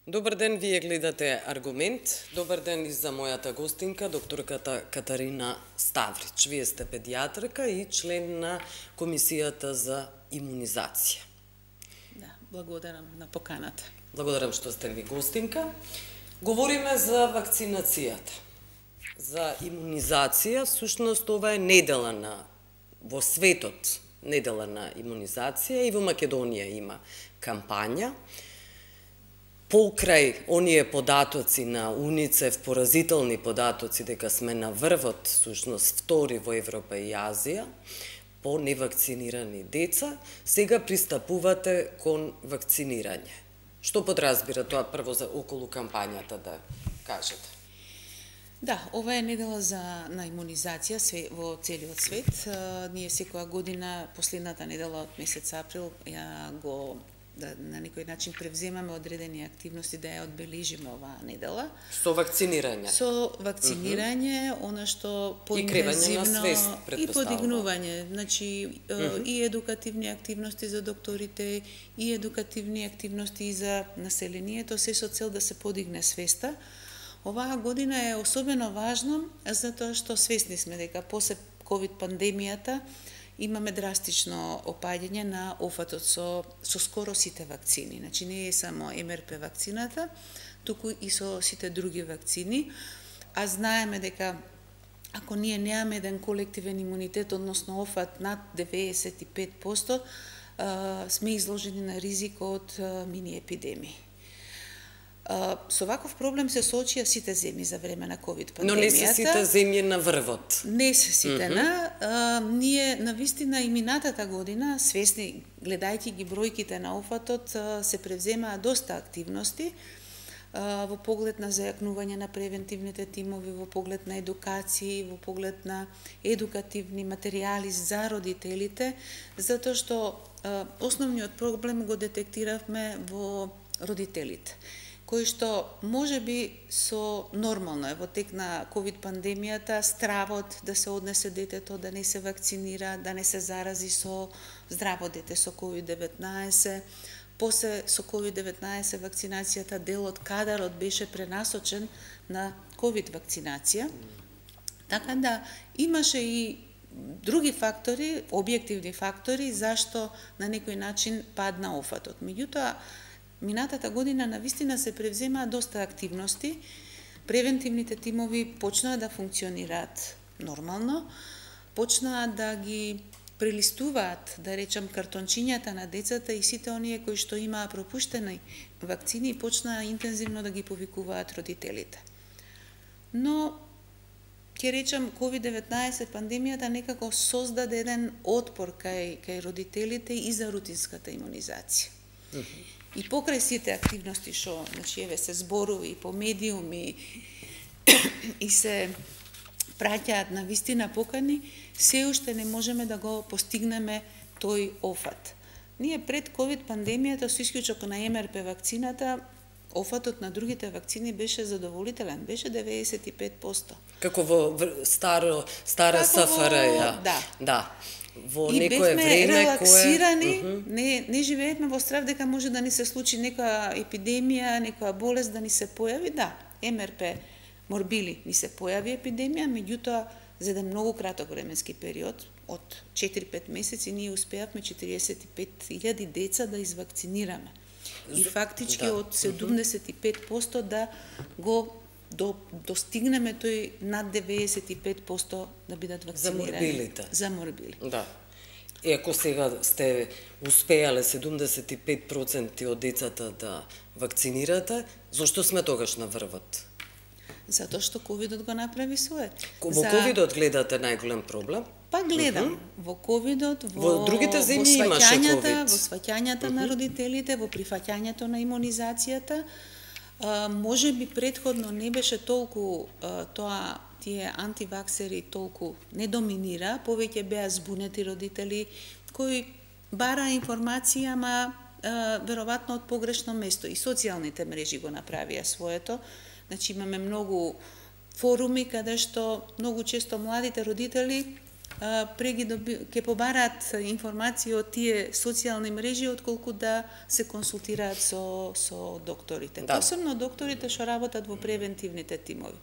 Добар ден, вие гледате Аргумент. Добар ден и за мојата гостинка, докторката Катарина Ставрич. Вие сте педијатрка и член на Комисијата за имунизација. Да, благодарам на поканата. Благодарам што сте ми гостинка. Говориме за вакцинацијата, за имунизација. Всушност, ова е недела во светот, недела на имунизација, и во Македонија има кампања. Покрај оние податоци на УНИЦЕФ, поразителни податоци дека сме на врвот, всушност втори во Европа и Азија, по невакцинирани деца, сега пристапувате кон вакцинирање. Што подразбира тоа прво за околу кампањата да кажете? Да, ова е недела на имунизација во целиот свет. Ние секоја година, последната недела од месец април, на некој начин превземаме одредени активности да ја одбележиме оваа недела. Со вакцинирање? Со вакцинирање, она што поинтензивно и подигнување, значи и едукативни активности за докторите, и едукативни активности и за населението, се со цел да се подигне свеста. Оваа година е особено важно затоа што свесни сме дека после ковид пандемијата имаме драстично опаѓање на офатот со скоро сите вакцини. Значи не е само МРП вакцината, туку и со сите други вакцини. А знаеме дека ако ние немаме еден колективен имунитет, односно офат над 95%, сме изложени на ризик од мини епидемии. Со ваков проблем се соочија сите земји за време на ковид пандемијата. Но не се сите земји на врвот. Не се сите ние навистина и минатата година, свесни, гледајќи ги бројките на офатот, се превземаа доста активности во поглед на зајакнување на превентивните тимови, во поглед на едукации, во поглед на едукативни материјали за родителите, затоа што основниот проблем го детектиравме во родителите, кој што може би со нормално е во тек на ковид пандемијата стравот да се однесе детето, да не се вакцинира, да не се зарази со здраво дете со COVID-19. После со COVID-19 вакцинацијата, дел од кадарот беше пренасочен на ковид вакцинација. Така да имаше и други фактори, објективни фактори, зашто на некој начин падна офатот. Меѓутоа, минатата година навистина се превземаа доста активности, превентивните тимови почнаа да функционираат нормално, почнаа да ги прелистуваат, да речам, картончињата на децата и сите оние кои што имаа пропуштени вакцини и почнаа интензивно да ги повикуваат родителите. Но, ќе речам, COVID-19 пандемијата некако создаде еден отпор кај родителите и за рутинската имунизација. И покрај сите активности што, значи, еве се зборува и по медиуми и се праќаат на вистина покани, се уште не можеме да го постигнеме тој офат. Ние пред ковид пандемијата, со исклучок на МРП вакцината, офатот на другите вакцини беше задоволителен, беше 95%. Како во стара СФР, да. Во и некое бевме време релаксирани, не живеевме во страв дека може да ни се случи некоја епидемија, некоја болест да ни се појави. Да, МРП морбили ни се појави епидемија, меѓутоа за еден многу краток временски период, од 4-5 месеци, ние успеавме 45.000 деца да извакцинираме. И фактички од 75% да го достигнеме тој над 95% да бидат вакцинирани. За морбили. Да. И ако сега сте успеале 75% од децата да вакцинирате, зошто сме тогаш на врвот? Затоа што ковидот го направи своето. Во ковидот гледате најголем проблем? Па гледам. Во ковидот, во другите земји имаше ковид. Во сваќањата на родителите, во прифаќањето на имунизацијата. Може би предходно не беше толку тие антиваксери толку не доминира, повеќе беа збунети родители кои бара информација, ама веројатно од погрешно место. И социјалните мрежи го направија своето. Значи имаме многу форуми каде што многу често младите родители ќе побараат информации од тие социјални мрежи отколку да се консултираат со докторите. Да. Посебно докторите што работат во превентивните тимови.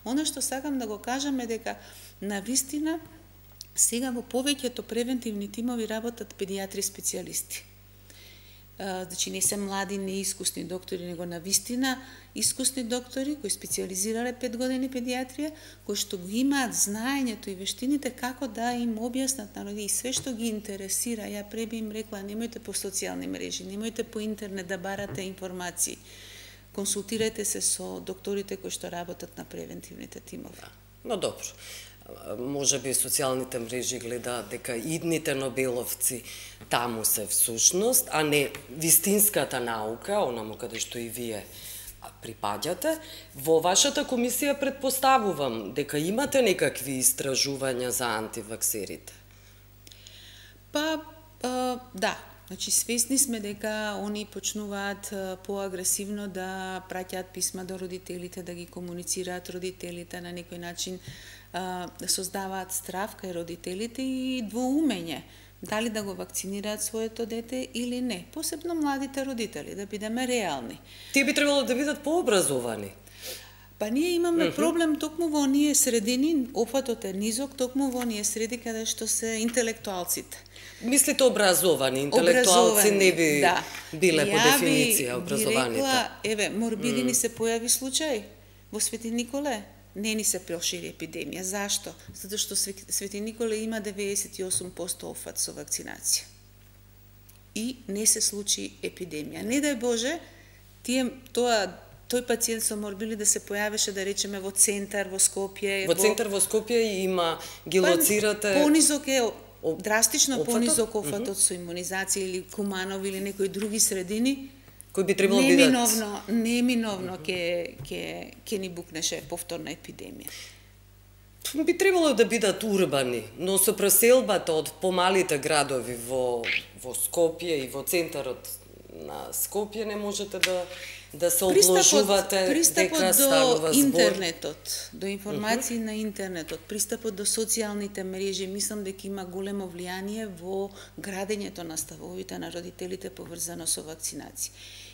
Она што сакам да го кажам е дека навистина сега во повеќето превентивни тимови работат педиатри специјалисти. Значи не се млади, неискусни доктори, него навистина искусни доктори кои специјализирале 5 години педиатрија, кои што го имаат знаењето и вештините како да им објаснат народи и све што ги интересира. Ја пре би им рекла, немојте по социјални мрежи, немојте по интернет да барате информации. Консултирајте се со докторите кои што работат на превентивните тимови. Но добро. Може би социјалните мрежи гледаат дека идните Нобеловци таму се всушност, а не вистинската наука, онаму каде што и вие припаѓате. Во вашата комисија претпоставувам дека имате некакви истражувања за антиваксерите. Да. Значи, свесни сме дека они почнуваат поагресивно да праќаат писма до родителите, да ги комуницираат родителите на некој начин, да создаваат страв кај родителите и двоумење дали да го вакцинираат своето дете или не. Посебно младите родители, да бидеме реални. Тие би требало да бидат пообразовани. Па ние имаме проблем токму во оние средини, опфатот е низок, токму во оние среди каде што се интелектуалците. Мислите образовани, интелектуалци не би биле по дефиниција образованите. Еве, морбили ни се појави случај во Свети Николе. Не ни се прошири епидемија. Зашто? Затоа што Свети Николе има 98% офат со вакцинација. И не се случи епидемија. Не дај Боже, тој пациент со морбили да се појавеше, да речеме, во центар, во Скопје. Во центар во Скопје има, ги лоцирате... Понизок е, драстично понизок офатот со имунизација или Куманови или некои други средини. Кој би требало бидат... Неминовно ќе ни букнеше повторна епидемија. Би требало да бидат урбани, но со преселбата од помалите градови во Скопје и во центарот на Скопје не можете да се обложувате дека станува збор. Пристапот до интернетот, до информации на интернетот, пристапот до социјалните мрежи, мислам дека има големо влијание во градењето на ставовите на родителите поврзано со вакцинација.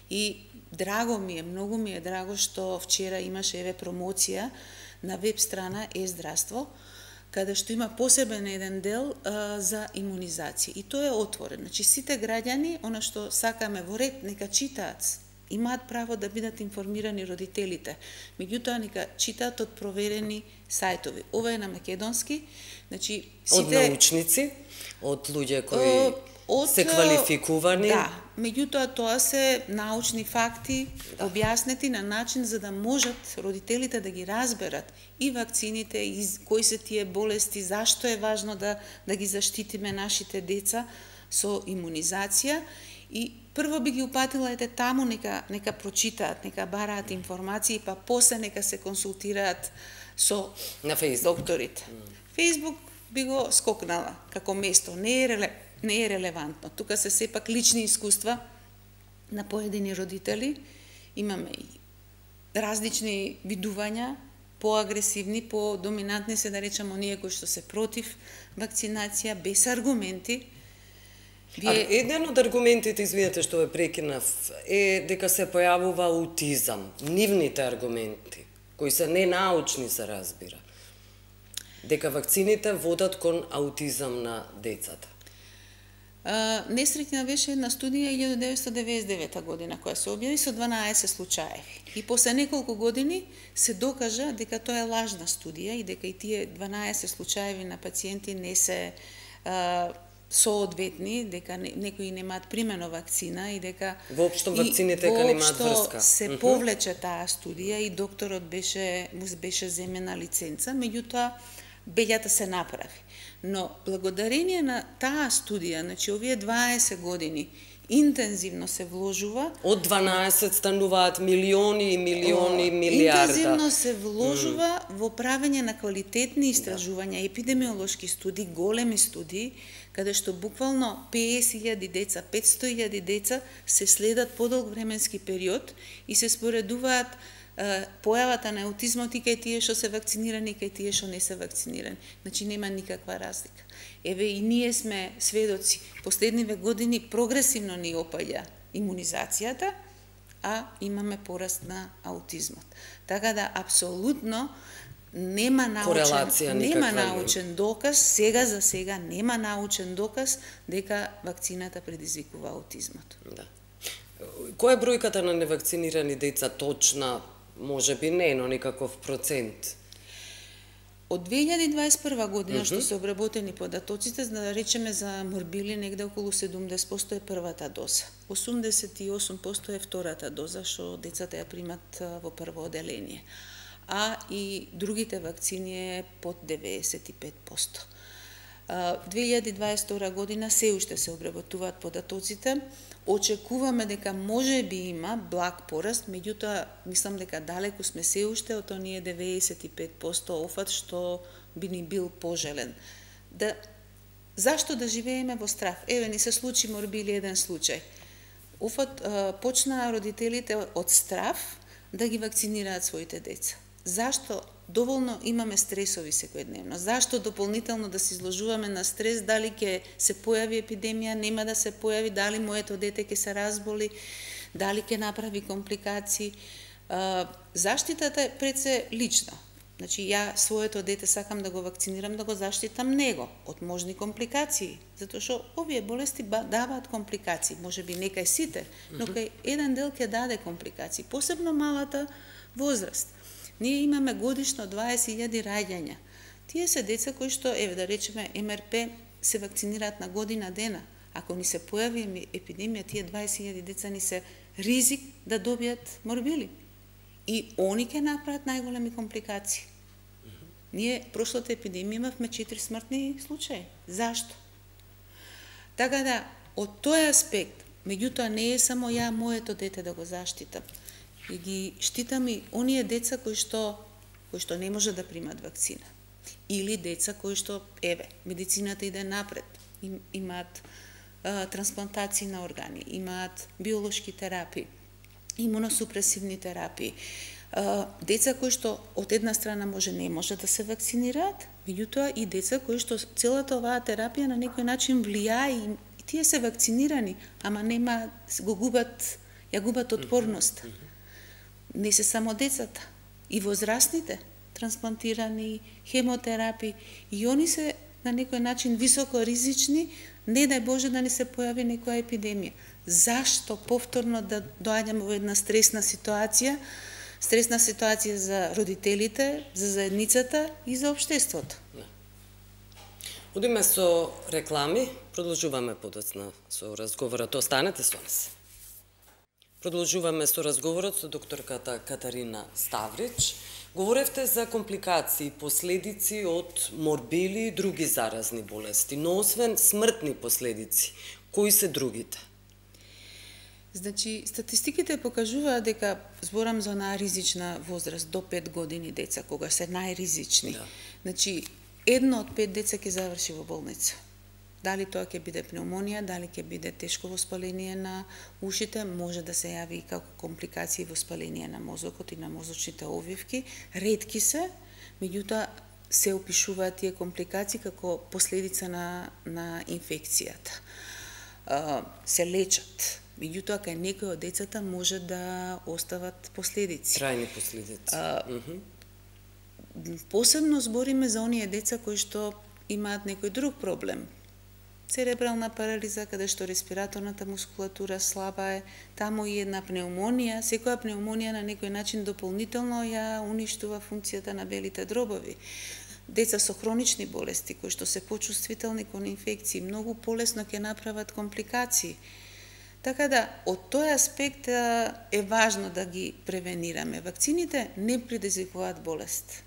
И драго ми е, многу ми е драго што вчера имаше промоција на веб страна Е-здравство, каде што има посебен еден дел за имунизација. И тоа е отворено. Значи, сите граѓани, она што сакаме во ред, нека читаат. Имаат право да бидат информирани родителите. Меѓутоа, нека читаат од проверени сајтови. Ова е на македонски. Значи, сите... Од научници, од луѓе кои се квалификувани. Да, меѓутоа тоа се научни факти, објаснети на начин за да можат родителите да ги разберат и вакцините, и кои се тие болести, зашто е важно да ги заштитиме нашите деца со имунизација. И прво би ги упатила таму, нека прочитаат, нека бараат информации, па после нека се консултираат со докторите. Фејсбук би го скокнала како место, не е релевантно. Тука се сепак лични искуства на поедини родители. Имаме и различни видувања, поагресивни, подоминантни се да речеме оние кои што се против вакцинација, без аргументи. Еден од аргументите, извинете што ве прекинав, е дека се појавува аутизам. Нивните аргументи, кои се ненаучни се разбира. Дека вакцините водат кон аутизам на децата. Несреќна беше една студија 1999 година која се објави со 12 случаеви. И после неколку години се докажа дека тоа е лажна студија и дека и тие 12 случаеви на пациенти не се соодветни, дека некои немаат примено вакцина и дека воопшто вакцините дека немаат врска. Се повлече таа студија и докторот му беше земена лиценца, меѓутоа бељата се направи. Но благодарение на таа студија, значи овие 20 години интензивно се вложува. Од 12 стануваат милиони и милиони, милиарда. Интензивно се вложува во правење на квалитетни истражувања, епидемиолошки студии, големи студии, каде што буквално 50.000 деца, 500.000 деца се следат подолг временски период и се споредуваат појавата на аутизмот и кај тие што се вакцинирани и кај тие што не се вакцинирани. Значи нема никаква разлика. Еве и ние сме сведоци. Последниве години прогресивно ни опаѓа имунизацијата, а имаме пораст на аутизмот. Така да апсолутно нема научен доказ, сега за сега нема научен доказ дека вакцината предизвикува аутизмот. Да. Која е бројката на невакцинирани деца точна? Може би не, но никаков процент. Од 2021 година што се обработени податоците, да речеме за морбили негде околу 70% е првата доза. 88% е втората доза што децата ја примат во прво оделение. А и другите вакцини е под 95%. 2022 година се уште се обработуваат податоците. Очекуваме дека може би има благ пораст, меѓутоа мислам дека далеку сме се уште од оние 95% офат што би ни бил пожелен. Зашто да живееме во страв? Еве ни се случи морбили еден случај. Офат почнаа родителите од страв да ги вакцинираат своите деца. Зашто доволно имаме стресови секојдневно? Зашто дополнително да се изложуваме на стрес, дали ќе се појави епидемија, нема да се појави, дали моето дете ќе се разболи, дали ќе направи компликации? Заштитата е пред се лична. Значи, ја своето дете сакам да го вакцинирам, да го заштитам него од можни компликации, затоа што овие болести даваат компликации, може би не кај сите, но кај еден дел ќе даде компликации, посебно малата возраст. Ние имаме годишно 20.000 раѓања. Тие се деца кои што, еве да речеме, МРП се вакцинираат на година дена. Ако ни се појави епидемија, тие 20.000 деца ни се ризик да добијат морбили. И они ќе направат најголеми компликации. Ние прошлата епидемија имавме 4 смртни случаи. Зашто? Така да, од тој аспект, меѓутоа не е само ја моето дете да го заштитам. И ги штитам и оние деца кои што не може да примат вакцина. Или деца кои што, еве, медицината иде напред, имаат трансплантации на органи, имаат биолошки терапии, имуносупресивни терапии. Деца кои што од една страна не може да се вакцинираат, меѓутоа и деца кои што целата оваа терапија на некој начин влијае и тие се вакцинирани, ама нема, ја губат отпорност. Не се само децата, и возрастните, трансплантирани, хемотерапии, и они се на некој начин високо ризични, не дај Боже да не се појави некоја епидемија. Зашто повторно да доаѓаме во една стресна ситуација за родителите, за заедницата и за општеството? Одиме со реклами, продолжуваме подоцна со разговорот. Останете со нас. Продолжуваме со разговорот со докторката Катарина Ставрич. Говоревте за компликации, последици од морбили и други заразни болести, но освен смртни последици, кои се другите? Значи, статистиките покажуваат дека зборам за онаа ризична возраст до 5 години деца, кога се најризични. Да. Значи, 1 од 5 деца ќе заврши во болница. Дали тоа ќе биде пневмонија, дали ќе биде тешко воспаление на ушите, може да се јави и како компликации воспаление на мозокот и на мозочните обвивки. Ретки се, меѓутоа се опишуваат тие компликации како последица на инфекцијата. Се лечат. Меѓутоа, кај некои од децата може да остават последици. Трајни последици. Посебно збориме за оние деца кои што имаат некој друг проблем. Церебрална парализа, каде што респираторната мускулатура слаба е, таму и една пневмонија. Секоја пневмонија на некој начин дополнително ја уништува функцијата на белите дробови. Деца со хронични болести, кои што се почувствителни кон инфекции, многу полесно ќе направат компликации. Така да, од тој аспект е важно да ги превенираме. Вакцините не предизвикуваат болест.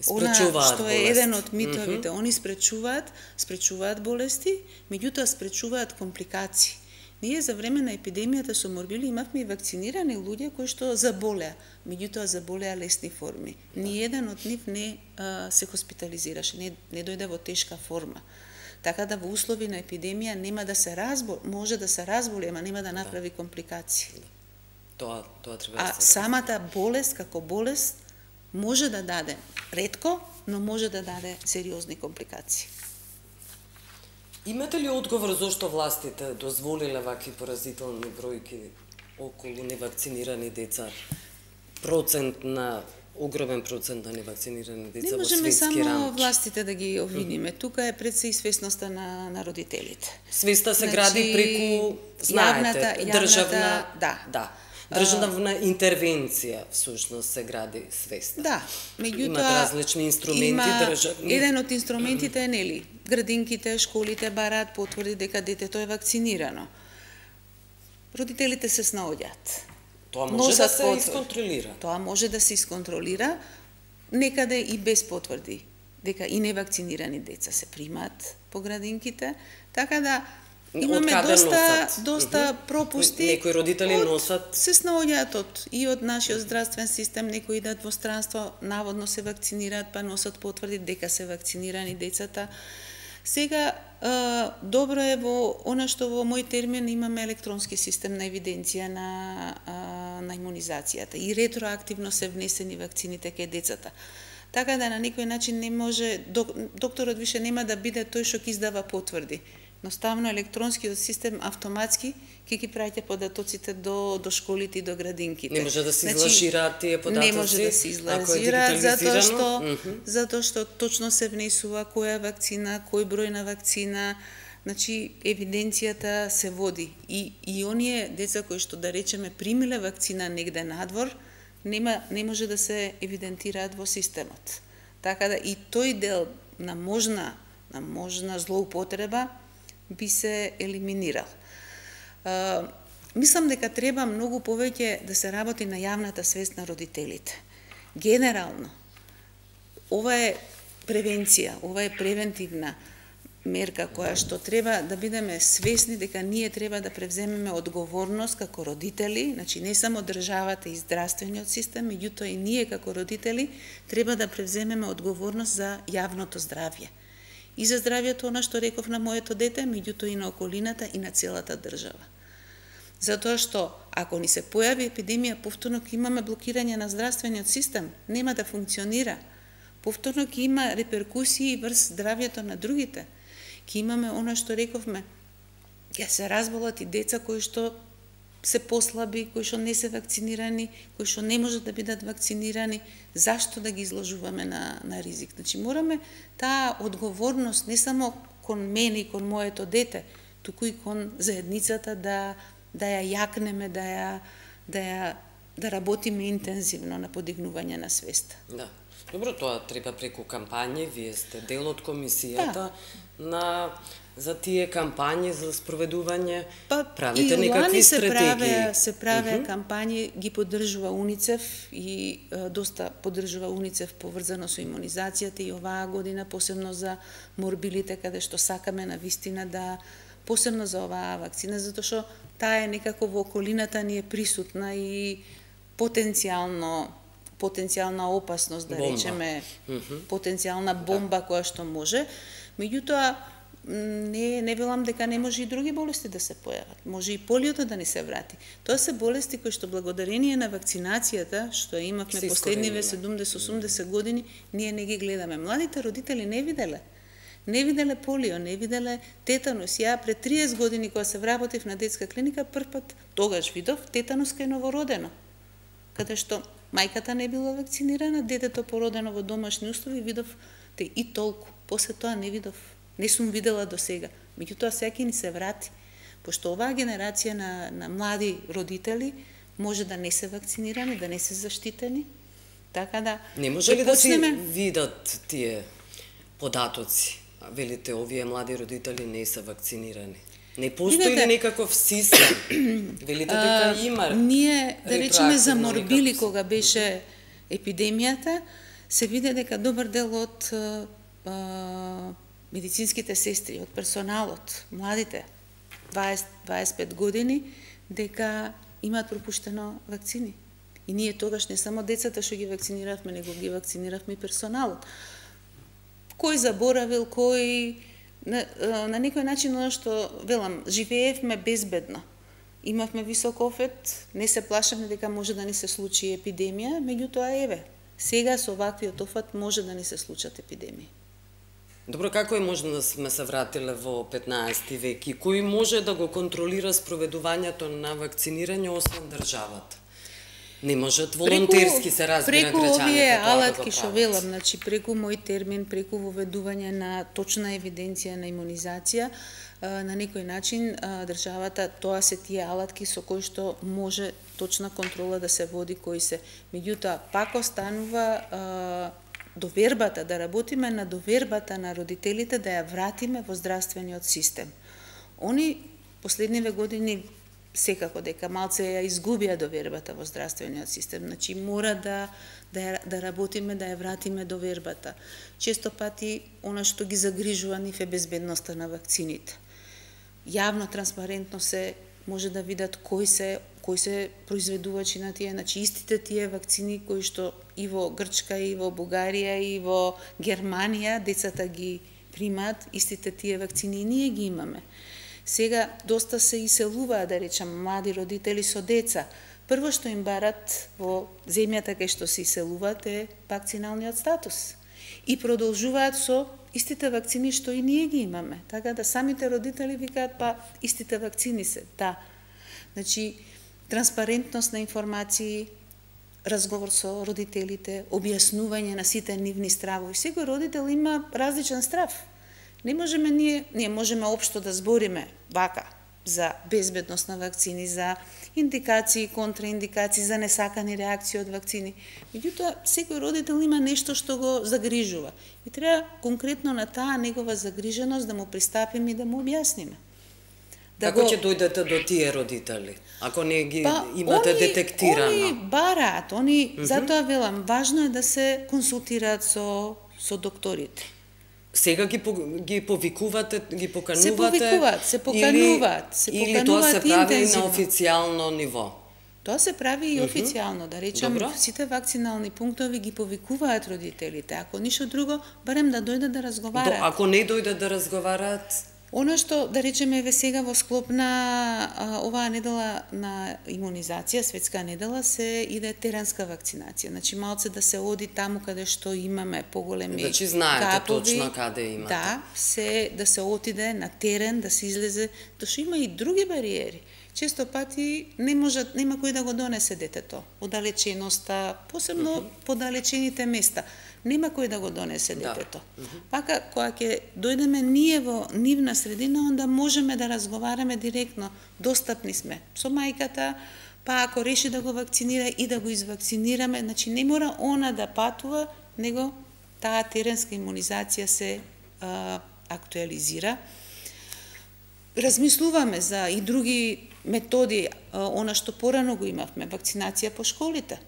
Спречуваат што е еден од митовите. Они спречуваат болести, меѓутоа спречуваат компликации. Ние за време на епидемијата со морбили имавме и вакцинирани луѓе кои што заболеа, меѓутоа заболеа лесни форми. Ниеден од нив не се хоспитализираше, не дојде во тешка форма. Така да во услови на епидемија нема да се може да се разболи, ама нема да направи компликации. Тоа треба А да се самата болест како болест може да даде ретко, но може да даде сериозни компликации. Имате ли одговор зошто властите дозволиле вакви поразителни бројки околу невакцинирани деца? Огромен процент на невакцинирани деца во светски рамки. Не можеме само властите да ги обвиниме. Тука е пред се и свесноста на родителите. Свеста се гради преку, знаете, државна интервенција, всушност се гради свеста. Да, меѓутоа имат различни инструменти државни. Еден од инструментите е нели, градинките, школите бараат потврди дека детето е вакцинирано. Родителите се снаоѓаат. Тоа може да се исконтролира. Тоа може да се исконтролира, некаде и без потврди, дека и невакцинирани деца се примаат по градинките, така да имаме доста пропусти. Некои родители носат. Се снаоѓаат и од нашиот здравствен систем, некои идат во странство, наводно се вакцинираат, па носат потврди дека се вакцинирани децата. Сега, добро е во она што во мој термин имаме електронски систем на евиденција на имунизацијата и ретроактивно се внесени вакцините кај децата. Така да на некој начин не може, докторот више нема да биде тој што ќе издава потврди. Едноставно електронскиот систем автоматски ќе ги праќа податоците до школите и до градинките. Не може да се излажираат тие податоци. Не може да се излажираат затоа што точно се внесува која вакцина, кој број на вакцина, значи евиденцијата се води и оние деца кои што да речеме примиле вакцина негде надвор, не може да се евидентираат во системот. Така да и тој дел на можна злоупотреба би се елиминирал. Мислам дека треба многу повеќе да се работи на јавната свест на родителите. Генерално, ова е превенција, ова е превентивна мерка која што треба да бидеме свесни дека ние треба да превземеме одговорност како родители, значи не само државата и здравствениот систем, меѓутоа и ние како родители треба да превземеме одговорност за јавното здравје. И за здравјето, она што реков на моето дете, меѓутоа и на околината и на целата држава. Затоа што, ако ни се појави епидемија, повторно ќе имаме блокирање на здравствениот систем, нема да функционира. Повторно ќе има реперкусии врз здравјето на другите. Ќе имаме она што рековме, ќе се разболат и деца кои што се послаби, кои што не се вакцинирани, кои што не можат да бидат вакцинирани, зашто да ги изложуваме на ризик? Значи, мораме таа одговорност не само кон мене и кон моето дете, туку и кон заедницата да ја јакнеме, да работиме интензивно на подигнување на свеста. Да. Добро, тоа треба преку кампањи, вие сте дел од комисијата за тие кампањи за спроведување, правите некакви стратегии. Се праве кампањи, ги поддржува УНИЦЕФ и доста поддржува УНИЦЕФ поврзано со имунизацијата и оваа година посебно за морбилите, каде што сакаме на вистина да посебно за оваа вакцина, затоа што таа е некако во околината ни е присутна и потенцијална опасност, да речеме, потенцијална бомба која што може. Меѓутоа, не велам дека не може и други болести да се појават. Може и полиото да ни се врати. Тоа се болести кои што благодарение на вакцинацијата, што имавме последниве 70-80 години, ние не ги гледаме. Младите родители не виделе полио, не виделе тетанус. Ја пред 30 години кога се вработив на детска клиника, првпат тогаш видов тетанус кај новородено. Каде што мајката не била вакцинирана, детето породено во домашни услови, видов и толку. После тоа не видов. Не сум видела до сега. Меѓутоа сега ќе ни се врати. Пошто оваа генерација на млади родители може да не се вакцинирани, да не се заштитени. Така да не може ли да се видат тие податоци? Велите, овие млади родители не се вакцинирани. Не постои ли некаков систем? Велите дека има. Ние, да речеме, за морбили кога беше епидемијата, се виде дека добар дел од медицинските сестри, од персоналот, младите, 20-25 години, дека имаат пропуштено вакцини. И ние тогаш не само децата што ги вакциниравме, него ги вакциниравме и персоналот. Кој заборавил, кој на некој начин, оно што велам, живеевме безбедно. имавме висок офет, не се плашаме дека може да ни се случи епидемија, меѓутоа еве, сега со ваквиот офат може да ни се случат епидемии. Добро, како е можно да сме се вратиле во 15 век и кој може да го контролира спроведувањето на вакцинирање освен државата? Не можат волонтерски се разбира граѓаните тоа овие да го алатки што прават. велам, значи преку мој термин, преку воведување на точна евиденција на имунизација, на некој начин државата, тоа се тие алатки со кои што може точна контрола да се води кои се. Меѓутоа, пак останува довербата, да работиме на довербата на родителите, да ја вратиме во здравствениот систем. Они последниве години секако дека малце ја изгубија довербата во здравствениот систем. Значи мора да работиме да ја вратиме довербата. Често пати она што ги загрижува нив е безбедноста на вакцините. Јавно, транспарентно се може да видат кои се произведувачи на тие, значи истите тие вакцини кои што и во Грчка, и во Бугарија, и во Германија децата ги примаат, истите тие вакцини и ние ги имаме. Сега доста се иселуваат, да речам, млади родители со деца. Прво што им барат во земјата кај што се иселуваат е вакциналниот статус. И продолжуваат со истите вакцини што и ние ги имаме. Така да самите родители викаат, па истите вакцини се, да. Значи, транспарентност на информации, разговор со родителите, објаснување на сите нивни стравови. Секој родител има различен страв. Не можеме ние можеме општо да збориме вака за безбедност на вакцини, за индикации, контраиндикации, за несакани реакции од вакцини. Меѓутоа, секој родител има нешто што го загрижува. И треба конкретно на таа негова загриженост да му пристапиме и да му објасниме. Како ќе дојдете до тие родители, ако не ги имате детектирано? Они бараат, затоа велам, важно е да се консултираат со докторите. Сега ги повикувате, ги поканувате? Се покануваат или тоа се прави на официјално ниво? Тоа се прави и официјално, да речем, сите вакцинални пунктови ги повикуваат родителите. Ако ништо друго, барем да дојдат да разговараат. Ако не дојдат да разговараат? Она што, да речеме, сега во склоп на оваа недела на имунизација, светска недела, се иде теренска вакцинација. Значи, малце да се оди таму каде што имаме поголеми капови. Значи, знаете точно каде имате. Да, да се отиде на терен, да се излезе, што има и други бариери. Често пати нема кој да го донесе детето. Оддалеченоста, посебно подалечените места. Нема кој да го донесе детето. Пака, кога ќе дојдеме ние во нивна средина, онда можеме да разговараме директно. Достапни сме со мајката, па ако реши да го вакцинира и да го извакцинираме, значи не мора она да патува, него таа теренска имунизација се актуализира. Размислуваме за и други методи, она што порано го имавме, вакцинација по школите.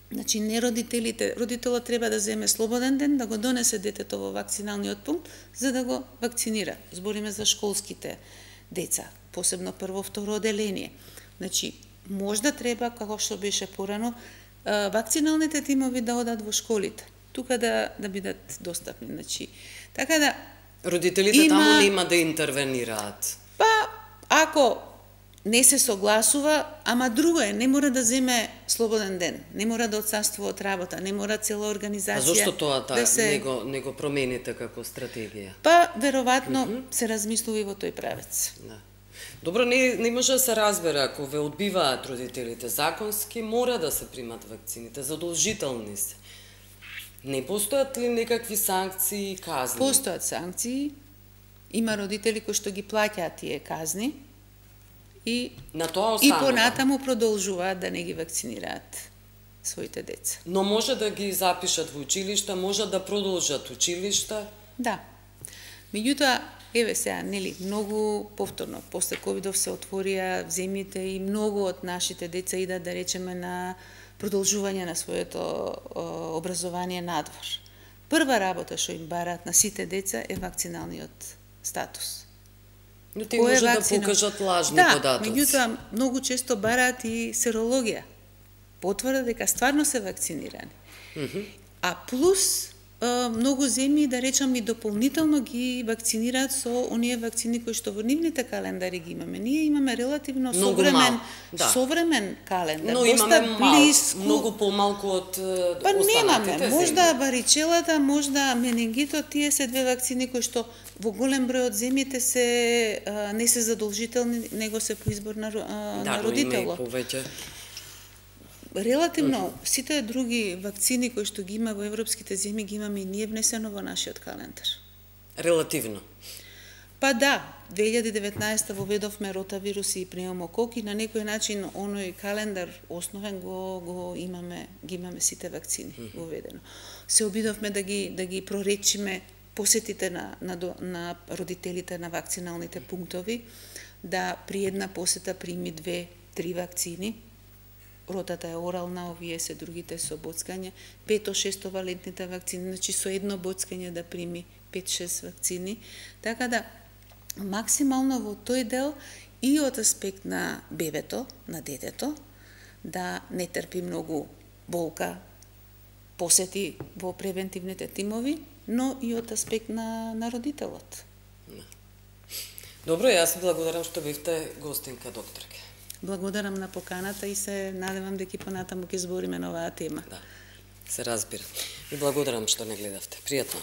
Значи, не родителот треба да земе слободен ден, да го донесе детето во вакциналниот пункт, за да го вакцинира. Збориме за школските деца, посебно прво, второ оделение. Значи, можда треба, како што беше порано, вакциналните тимови да одат во школите, тука да бидат достапни. Значи, така да родителите таму нема да интервенираат. Па, ако не се согласува, ама друго е, не мора да земе слободен ден, не мора да отсаствува од работа, не мора цела организација. А зошто тоа не го промените како стратегија? Па, веројатно се размислува и во тој правец. Да. Добро, не може да се разбере, ако ве одбиваат родителите законски, мора да се примат вакцините, задолжителни се. Не постојат ли некакви санкции и казни? Постојат санкции, има родители кои што ги плаќаат тие казни, и понатаму продолжуваат да не ги вакцинираат своите деца. Но може да ги запишат во училишта, може да продолжат училишта? Да. Меѓутоа, еве сега, многу повторно, после ковидов се отворија земјите и многу од нашите деца идат, да речеме, на продолжување на своето образование надвор. Прва работа што им бараат на сите деца е вакциналниот статус. Но тие може да покажат лажни податоци. Да, меѓутоа, многу често бараат и серологија. Потврда дека стварно се вакцинирани. А плюс многу земји, да речам, и дополнително ги вакцинираат со оние вакцини кои што во нивните календари ги имаме. Ние имаме релативно современ календар, но доста близко. Многу помалку од Па останатите немаме, земји. можда варичелата, можда менингитот, тие се две вакцини кои што во голем број од земјите не се задолжителни, него се по избор на родителот. Да, има и повеќе. Релативно, сите други вакцини кои што ги има во европските земји, ги имаме и ние внесено во нашиот календар. Релативно. Па да, 2019 воведовме ротавируси и пневмококи, на некој начин оној календар основен ги имаме сите вакцини воведено. Се обидовме да ги проречиме посетите на родителите на вакциналните пунктови, да при една посета прими 2-3 вакцини. Ротата е орална, овие се другите со боцкање, 5-6 валентните вакцини, значи со едно боцкање да прими 5-6 вакцини. Така да, максимално во тој дел и од аспект на бебето, на детето, да не трпи многу болка, посети во превентивните тимови, но и од аспект на родителот. Добро, јас благодарам што бевте гостинка, докторке. Благодарам на поканата и се надевам дека понатаму ќе збориме на оваа тема. Да, се разбира. И благодарам што не гледавте. Пријатно.